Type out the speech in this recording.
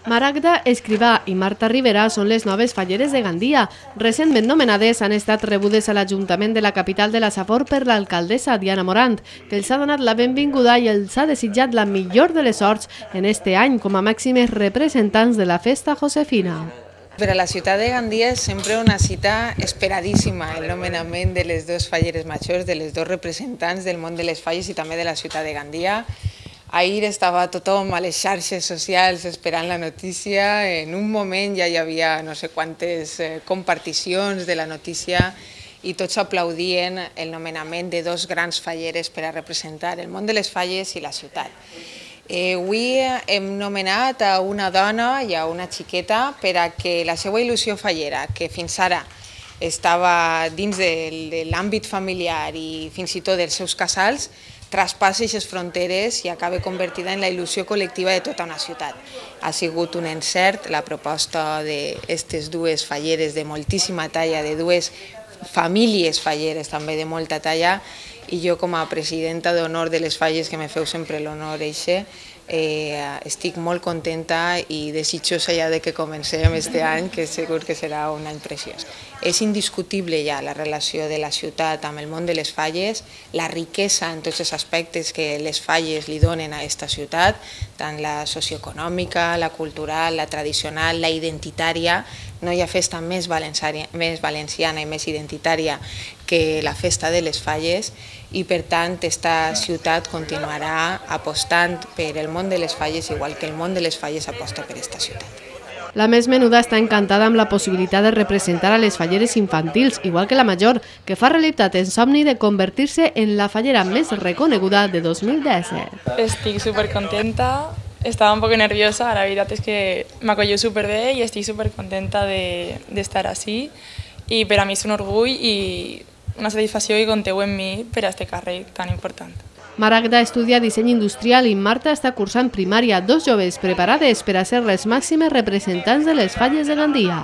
Maragda Escrivà i Marta Rivera són les noves falleres de Gandia. Recentment nomenades han estat rebudes a l'Ajuntament de la capital de la Safor per l'alcaldessa Diana Morant, que els ha donat la benvinguda i els ha desitjat la millor de les sorts en este any com a màximes representants de la festa josefina. Per a la ciutat de Gandia és sempre una cita esperadíssima el nomenament de les dues falleres majors, de les dos representants del món de les falles i també de la ciutat de Gandia. Ahir estava tothom a les xarxes socials esperant la notícia. En un moment ja hi havia no sé quantes comparticions de la notícia i tots aplaudien el nomenament de dos grans falleres per a representar el món de les falles i la ciutat. Avui hem nomenat a una dona i a una xiqueta per a que la seva il·lusió fallera, que fins ara estava dins de l'àmbit familiar i fins i tot dels seus casals, traspassi aquestes fronteres i acabe convertida en la il·lusió col·lectiva de tota una ciutat. Ha sigut un encert la proposta d'aquestes dues falleres de moltíssima talla, de dues famílies falleres també de molta talla, i jo com a presidenta d'honor de les falles, que me feu sempre l'honor eixe, estic molt contenta i desitjosa ja de que comencem este any, que segur que serà un any preciós. És indiscutible ja la relació de la ciutat amb el món de les falles, la riquesa en tots els aspectes que les falles li donen a aquesta ciutat, tant la socioeconòmica, la cultural, la tradicional, la identitària. No hi ha festa més valenciana i més identitària que la festa de les falles i per tant esta ciutat continuarà apostant per el món de les falles igual que el món de les falles aposta per esta ciutat. La més menuda està encantada amb la possibilitat de representar a les falleres infantils, igual que la major, que fa realitat en somni de convertir-se en la fallera més reconeguda de 2017. Estic supercontenta, estava un poc nerviosa, la veritat és que m'acollo superbé i estic supercontenta d'estar així i per a mi és un orgull i una satisfacció que compteu en mi per a aquest càrrec tan important. Maragda estudia disseny industrial i Marta està cursant primària, dos joves preparades per a ser les màximes representants de les falles de Gandia.